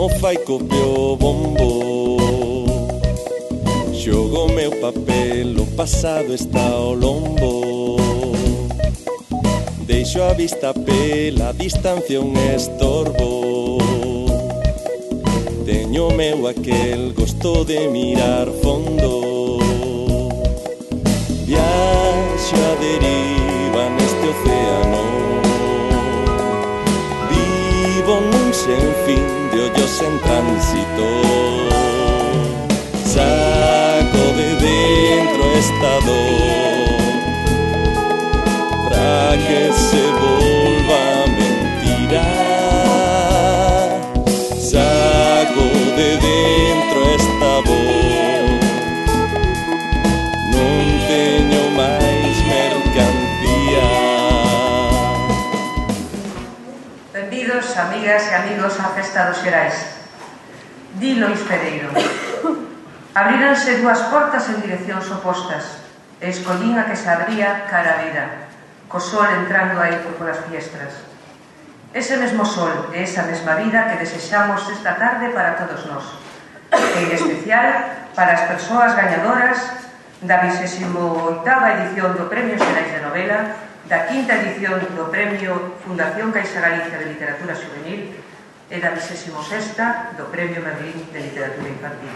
como fai copio bombo. Xogo o meu papel, o pasado está ao lombo. Deixo a vista pela distancia un estorbo. Teño meu aquel gosto de mirar fondo. Viaxo a deriva neste océano. Vivo nun sen fin de ollos en tránsito. Saco de dentro esta dor para que se volva mentira. Saco de dentro esta voz. Non teño máis mercancía. Benvidos, amigas e amigos, á Festa dos Xerais. Di Lois Pereiro: abríranse dúas portas en direccións opostas e escollín a que se abría cara a vida, co sol entrando aí polas fiestras. Ese mesmo sol e esa mesma vida que desexamos esta tarde para todos nós, e en especial para as persoas gañadoras da 28ª edición do Premio Xerais de Novela, da 5ª edición do Premio Fundación Caixa Galicia de Literatura Juvenil e da 26ª do Premio Merlín de Literatura Infantil.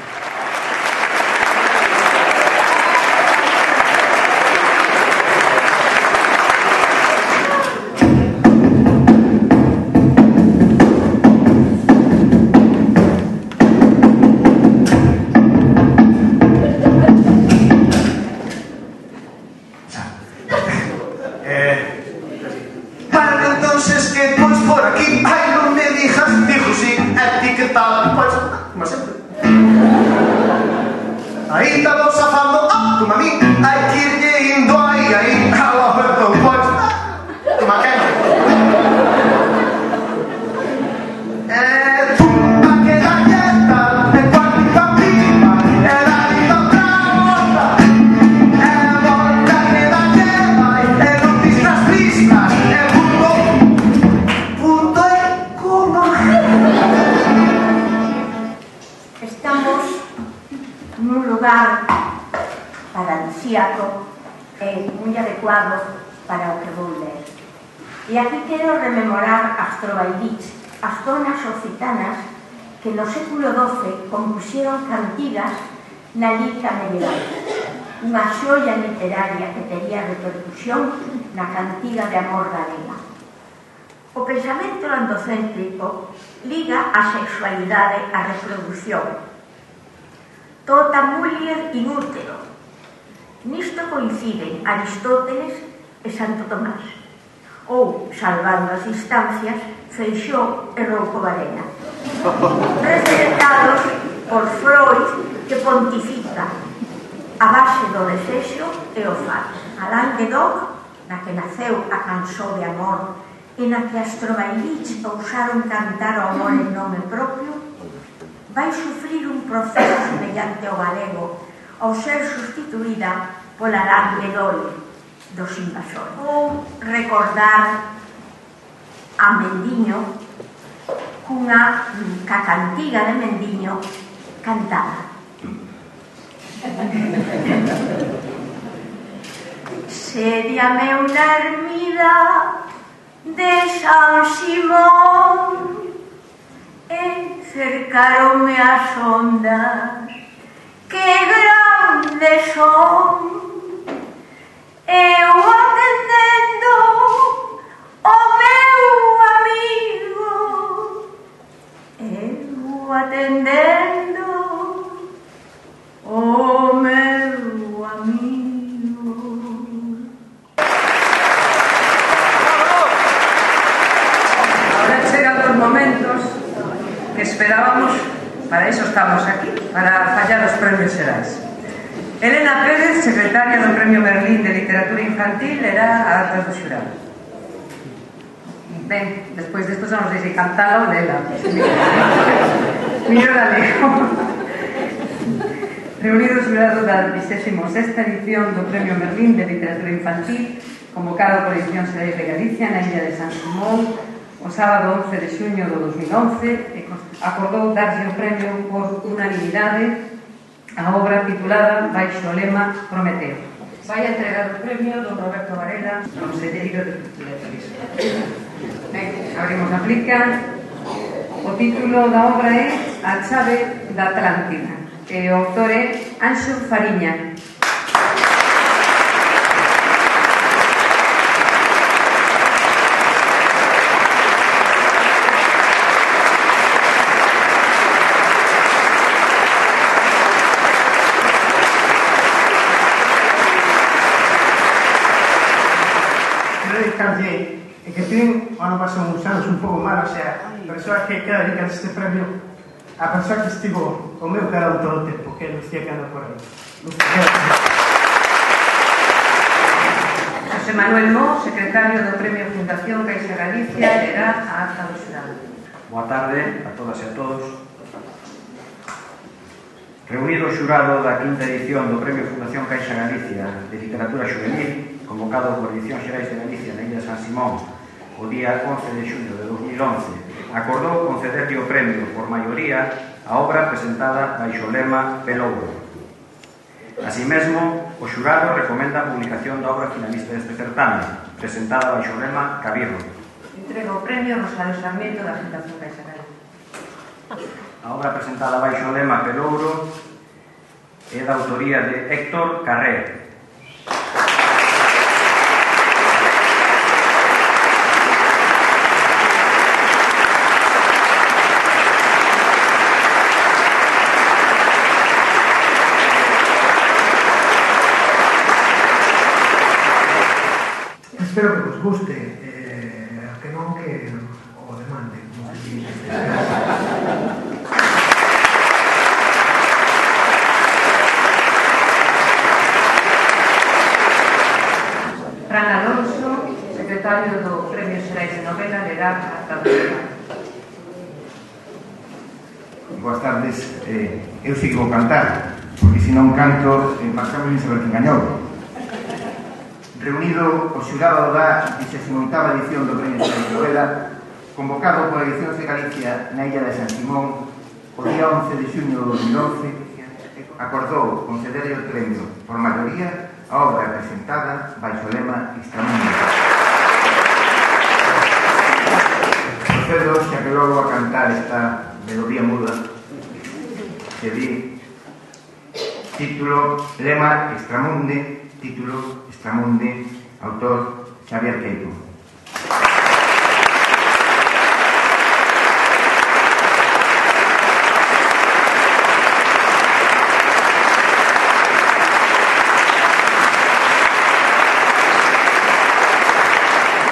Para o que vou ler. E aquí quero rememorar as trovailits, as zonas occitanas que no século XII compusieron cantigas na lírica medieval, unha xoia literaria que tería repercusión na cantiga de amor galega. O pensamento androcéntrico liga a sexualidade á reproducción. Tota muller in útero. Nisto coinciden Aristóteles e Santo Tomás, ou, salvando as distancias, Feixóo e Rouco Varela, representados por Freud, que pontifica a base do desexo e o faz. Alain Guédon, na que naceu a canción de amor e na que as trovailits ousaron cantar o amor en nome propio, vai sufrir un proceso semellante ao galego ao ser sustituída pola Alain Guédon dos invasores. Ou recordar a Mendiño cunha cantiga de Mendiño cantada. Sédiame unha ermida de San Simón e cercaronme as ondas que grandes son. Eu atendendo o meu amigo, eu atendendo o meu amigo. Ahora chegan os momentos que esperábamos, para iso estamos aquí, para fallar os premios xerais. Elena Pérez, secretaria do Premio Merlín de Literatura Infantil, era a atrás do xurado. Ben, despois desto xa non sei se cantala ou lela. Millor alego. Reunido o xurado da 26ª edición do Premio Merlín de Literatura Infantil, convocado por Edicións Xerais de Galicia na illa de San Simón, o sábado 11 de xuño do 2011 acordou darlle o premio por unanimidade a obra titulada Baixo o lema Prometeo. Vai a entregar o premio don Roberto Varela, conselleiro de Cultura e Turismo. Abrimos a plica. O título da obra é A chave da Atlántida e o autor é Anxo Fariña. E que ten, o ano pasado uns anos un pouco mal, o sea, persoas que queda dedicar este premio a persoa que estivo o meu carón todo o tempo, que é Lucía Cano por aí. José Manuel Mó, secretario do Premio Fundación Caixa Galicia, lerá a acta do xurado. Boa tarde a todas e a todos. Reunido o xurado da quinta edición do Premio Fundación Caixa Galicia de Literatura Juvenil, convocado por Edicións Xerais de Galicia na Illa de San Simón o día 11 de xuño de 2011, acordou concederlle o premio por maioría a obra presentada baixo o lema Pelouro. Así mesmo, o xurado recomenda a publicación da obra finalista deste certame, presentada baixo o lema Cabirro. Entrega o premio Rosario Sarmiento da Fundación Caixa Galicia. A obra presentada baixo o lema Pelouro é da autoría de Héctor Carré. Espero que vos guste, que non que o demande, como se dice. Fran Alonso, secretario do Premio Xerais de Novela, lerá a acta do xurado. Boas tardes, eu sei que vou cantar, porque se non canto, marcamos sin saber quen gañou. Reunido o xurado da 18ª edición do Premio Xerais de Novela, convocado pola Edicións de Galicia na Illa de San Simón, o día 11 de xuño do 2011, acordou concederlle o premio por maioría a obra presentada baixo o lema Extramundo. Procedo xa que logo a cantar esta melodía muda que di título Lema Extramunde, título Extramunde, autor Xavier Queipo.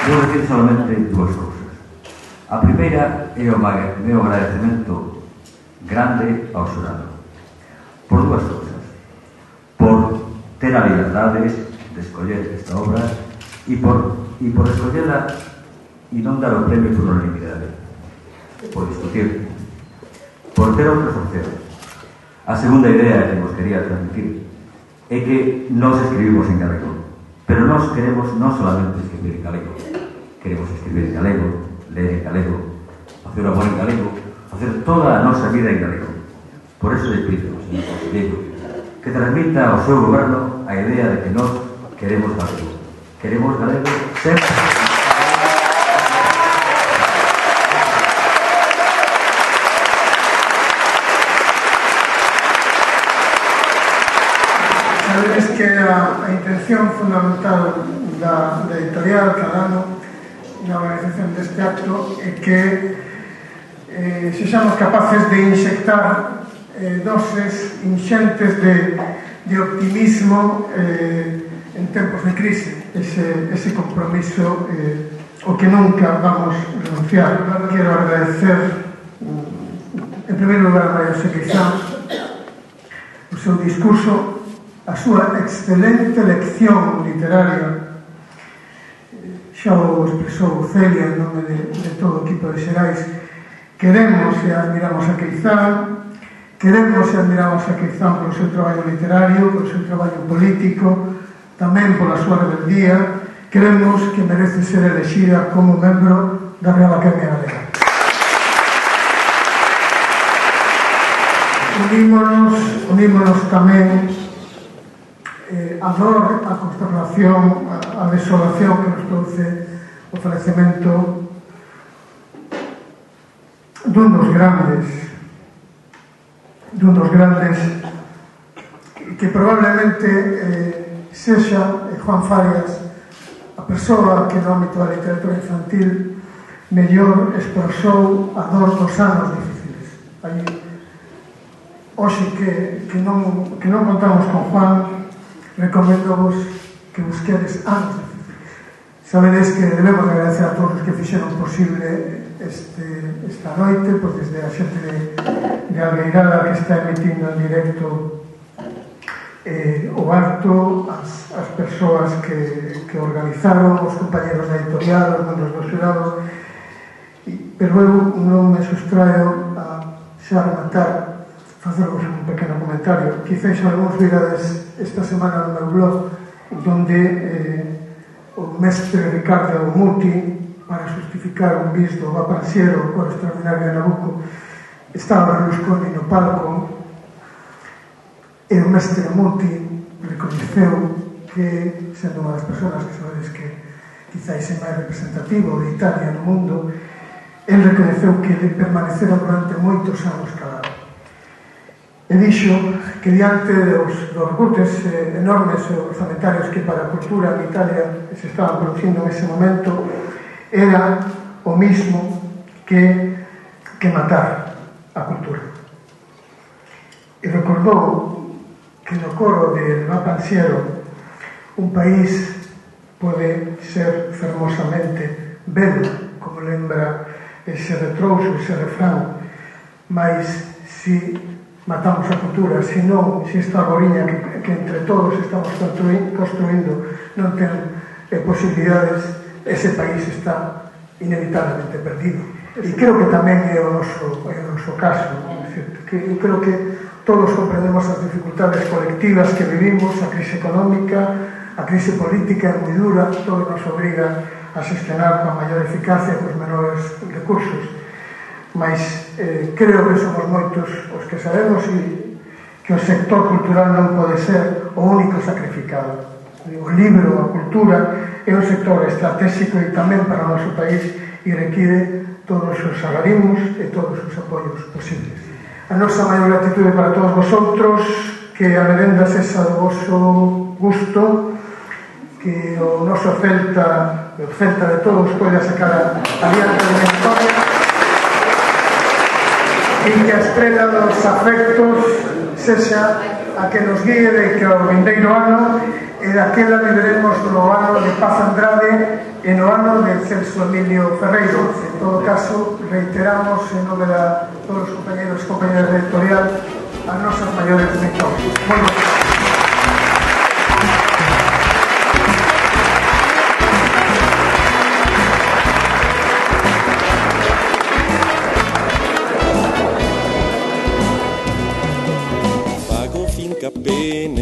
Vou decir solamente dúas cousas. A primeira é o meu agradecemento grande ao xurado por dúas cousas: por ter a liberdade de escoller esta obra e por escollela e non dar o premio por unanimidade, por discutir, por ter outras opcións. A segunda idea que vos quería transmitir é que nós escribimos en galego, pero nós queremos non solamente escribir en galego, queremos escribir en galego, ler en galego, facer amor en galego, facer toda a nosa vida en galego. Por eso le pido, señor conselleiro, que transmita ao seu goberno a idea de que nós queremos galego. Queremos galego sempre. Sabedes que a intención fundamental da editorial cada ano na organización deste acto é que sexamos capaces de inxectar doses inxentes de optimismo en tempos de crise. Ese compromiso o que nunca vamos renunciar. Quero agradecer en primeiro lugar a María José Queizán o seu discurso, a súa excelente lección literaria. Xa o expresou Celia en nome de todo o equipo de Xerais. Queremos e admiramos a Queizán, queremos e admiramos a Queizán polo seu traballo literario, polo seu traballo político, tamén pola súa rebeldía. Queremos que merece ser elexida como membro da Real Academia Galega. Unímonos tamén a dor, a consternación, a desolación que nos produce o falecemento dun dos grandes que probablemente sexa Juan Farias a persoa que no ámbito da literatura infantil mellor expresou a dor dos anos difíciles. Hoxe que non contamos con Juan, recomendo-vos que busquedes anos difíciles. Sabedes que debemos agradecer a todos os que fixeron posible esta noite, pois desde a xente de Albeirada que está emitindo en directo o acto, as persoas que organizaron, os compañeros da editorial, os membros do xurado, pero eu non me sustraio a xa rematar facervos un pequeno comentario. Quizás algúns virades esta semana no meu blog donde o mestre Ricardo Muti, para justificar un bis do Vapanciero por extraordinario de Nabucco, estaba Berlusconi no palco e o mestre Muti recoñeceu que, sendo unha das persoas que sabedes que quizás é máis representativo de Italia no mundo, el recoñeceu que permaneceron durante moitos anos calado. E dixo que diante dos recursos enormes orzamentarios que para a cultura en Italia se estaban producindo en ese momento, era o mismo que matar a cultura. E recordou que no coro de Vapanciero un país pode ser fermosamente belo, como lembra ese retrouso, ese refrán, mas si matamos a cultura, si non, si esta arboriña que entre todos estamos construindo non ten posibilidades, ese país está inevitablemente perdido. E creo que tamén é o noso caso. Eu creo que todos comprendemos as dificultades colectivas que vivimos, a crise económica, a crise política é moi dura, todo nos obriga a xestionar con maior eficacia cos menores recursos. Mas creo que somos moitos os que sabemos que o sector cultural non pode ser o único sacrificado. O libro, a cultura, é un sector estratégico e tamén para o noso país e require todos os salarimos e todos os apoios posibles. A nosa maior gratitude para todos vosotros, que a merenda sexa do vosso gusto, que o noso Celta, o Celta de todos, poida sacar adiante da historia e que a estrela dos afectos sexa a que nos guíe de que o vindeiro ano e daquela viveremos no ano de Paz Andrade e no ano de Celso Emilio Ferreiro. En todo caso, reiteramos en nome de todos os compañeros e compañeras da editorial as nosas maiores victorias. Moi ben.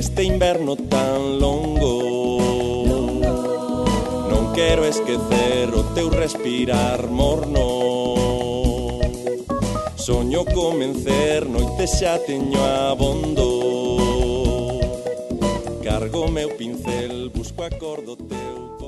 Neste inverno tan longo non quero esquecer o teu respirar morno. Soño comencer, noite xa teño abondo. Cargo meu pincel, busco acordo teu.